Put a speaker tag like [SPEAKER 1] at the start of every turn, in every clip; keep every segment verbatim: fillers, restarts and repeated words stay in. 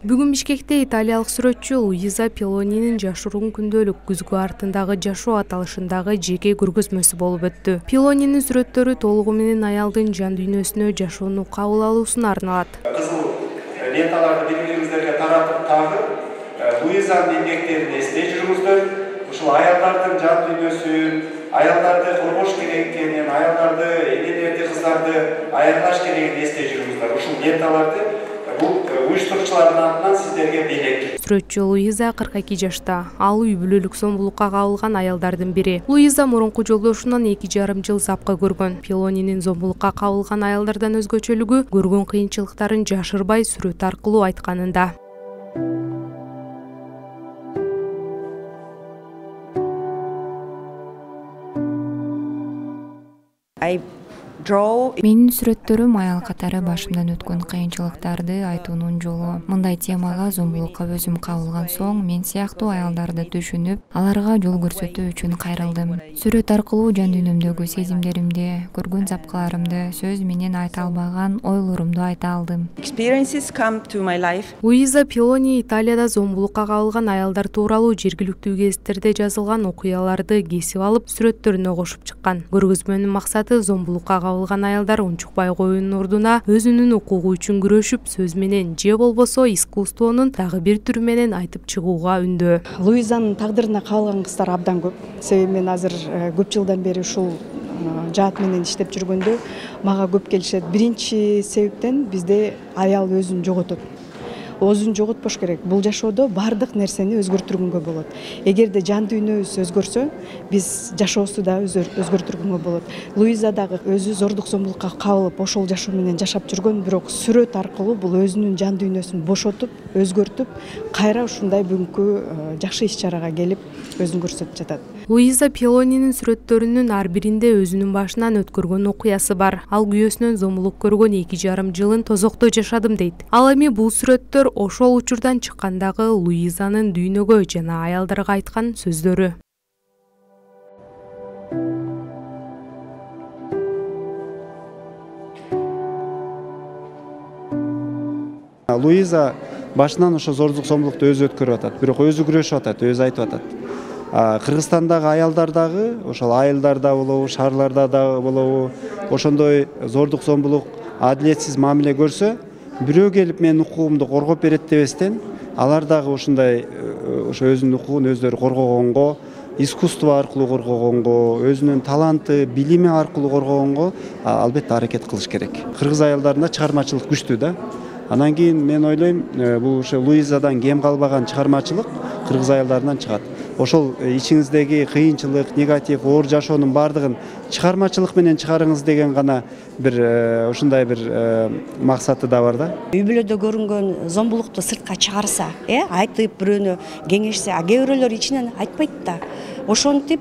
[SPEAKER 1] Бүгүн Бишкекте италиялык сүрөтчү Луиза Пилонинин жашыруун күндөлүк күзгү артындагы жашоо аталышындагы жеке көргөзмөсү болуп өттү. Пилонинин сүрөттөрү толугу менен аялдын жан дүйнөсүнө жашоону кабыл алуусуна арналат.
[SPEAKER 2] Кызыл ленталарды бири-бириңиздерге таратып тагып, Луизанын эмгектерин эстей жүрүңүздөр. Ушул аялдардын жан дүйнөсүн, аялдарды коргош керек экенин, аялдарды, энелерди, кыздарды аярлаш керегин эстей жүрүңүздөр. Ушул ленталарды бул уюштуруучулардын атынан сиздерге белек.
[SPEAKER 1] Сүрөтчү Луиза кырк эки жашта. Ал үй бүлөлүк зомбулукка кабылган аялдардын бири. Луиза мурунку жолдошунан эки жарым жыл запка көргөн. Пилонинин зомбулукка кабылган аялдардан өзгөчөлүгү көргөн кыйынчылыктарын жашырбай сүрөт аркылуу айтканында.
[SPEAKER 3] Менин сүрөттөрүм аял катары башымдан өткөн кыйынчылыктарды айтуунун жолу. Мындай темага зомбулукка өзүм кабылган соң мен сыяктуу аялдарды түшүнүп, аларга жол көрсөтүү үчүн кайрылдым. Сүрөт аркылуу жан дүйнөмдөгү сезимдеримди, көргөн запкаларымды, сөз менен айта албаган ойлорумду айта алдым.
[SPEAKER 1] Луиза Пилони Италияда зомбулукка кабылган аялдар тууралуу жергиликтүү гезиттерде жазылган окуяларды кесип алып, сүрөттөрүнө кошуп чыккан. Көргөзмөнүн максаты зомбулукка кабылган аялдар унчукпай коюунун ордуна өзүнүн укугу үчүн күрөшүп, сөз менен же болбосо искусствонун дагы бир түрү менен айтып чыгууга үндөө.
[SPEAKER 4] Луизанын тагдырына кабылган кыздар абдан көп. Себеби мен азыр көп жылдан бери ушул жаат менен иштеп жүргөндө мага көп келишет. Биринчи себептен бизде аял өзүн жоготот. Өзүн жоготпош керек. Бул жашоодо бардык нерсени өзгөртүргөнгө болот. Эгерде жан дүйнөбүз өзгөрсө, биз жашообузду да өзгөртүргөнгө болот. Луиза дагы өзү зордук зомбулукка кабылып, ошол жашоо менен жашап жүргөн, бирок сүрөт аркылуу бул өзүнүн жан дүйнөсүн бошотуп, өзгөртүп, кайра ушундай бүгүнкү жакшы иш-чарага келип, өзүн көрсөтүп жатат.
[SPEAKER 1] Луиза Пилонинин сүрөттөрүнүн ар биринде өзүнүн башынан өткөргөн окуясы бар. Ал күйөөсүнөн зомбулук көргөн эки жарым жылын тозокто жашадым дейт. Ал эми бул сүрөттөр ошол учурдан чыккандагы Луизанын дүйнөгө жана аялдарга айткан сөздөрү.
[SPEAKER 2] Луиза башынан ошо зордук зомбулукту өзү өткөрүп атат, бирок өзү күрөшүп атат, өзү айтып атат. Кыргызстандагы аялдар дагы, ошол айылдарда болобу, шаарларда дагы болобу, ошондой зордук зомбулук, адилетсиз мамиле көрсө, бирөө келип менин укугумду коргоп берет дебестен, алар дагы ушундай ошо өзүнүн укугун өздөрү коргогонго, искусство аркылуу коргогонго, өзүнүн таланты, билими аркылуу коргогонго албетте аракет кылыш керек. Кыргыз аялдарында чыгармачылык күчтүү да. Анан кийин мен ойлойм, бул ошо Луизадан кем калбаган чыгармачылык кыргыз аялдарынан чыгат. Ошол ичиңиздеги кыйынчылык, негатив, оор жашоонун бардыгын чыгармачылык менен чыгарыңыз деген гана бир ушундай бир максаты да бар да.
[SPEAKER 5] Үй бүлөдө көрүнгөн зомбулукту сыртка чыгарса, э, айтып бирөөнү кеңешсе, а кээ бирөөлөр ичинен айтпайт да. Ошентип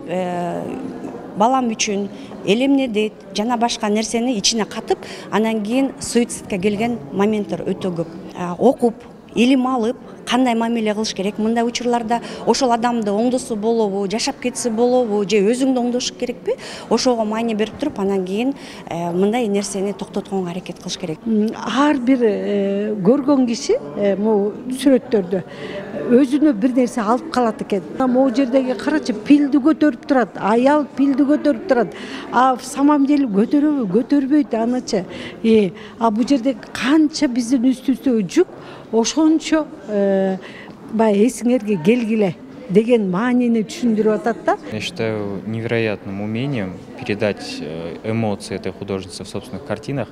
[SPEAKER 5] балам үчүн элемне дейт, жана башка нерсени ичине катып, анан кийин суицидке келген моменттер өтө көп. Окуп, илим алып, кандай мамиле кылыш керек, мындай учурларда ошол адамды оңдосо болобу, жашап кетсе болобу, же өзүңдү оңдош керекпи? Ошого маани берип туруп, анан кийин мындай нерсени токтотконго аракет кылыш керек.
[SPEAKER 6] Ар бир көргөн киши могу сүрөттөрдө өзүнө бир нерсе алып калат экен. Могу жердеги карачы пилди көтөрүп турат, аял пилди көтөрүп турат. А в самом деле көтөрөбү, көтөрбөйт анычы. А бул жерде канча биздин үстүбүздөгү жүк, ошончо баягы эсиңерге келгиле деген маанини түшүндүрүп атат да.
[SPEAKER 7] Я считаю невероятным умением передать эмоции этой художницы в собственных картинах.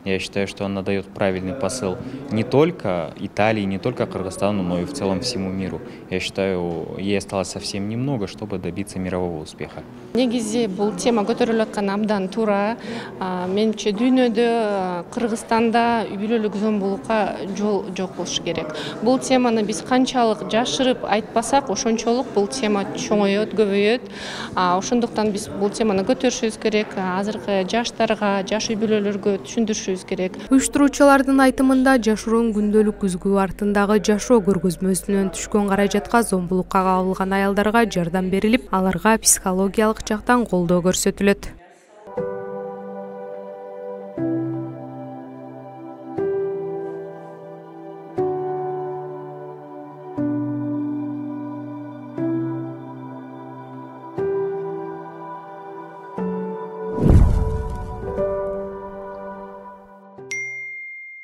[SPEAKER 7] Я считаю, что она дает правильный посыл не только Италии, не только Кыргызстану, но и в целом всему миру. Я считаю, ей осталось совсем немного, чтобы добиться мирового успеха.
[SPEAKER 8] Негизи бул тема көтөрүлүп аткан абдан туура. Менимче дүйнөдө, Кыргызстанда үй бүлөлүк зомбулукка жол жок болуш керек. Бул теманы биз канчалык жашырып айтпасак, ошончолук бул тема чоңоет, көбөйөт. Ошондуктан биз бул теманы көтөрүшүбүз керек. Азыркы жаштарга, жаш үй бүлөлөргө түшүндүрүшүбүз керек.
[SPEAKER 1] Уюштуруучулардын айтымында жашыруун күндөлүк күзгү артындагы жашоо көргөзмөсүнөн түшкөн каражатка зомбулукка кабылган аялдарга жардам берилип, аларга психологиялык жактан колдоо көрсөтүлөт.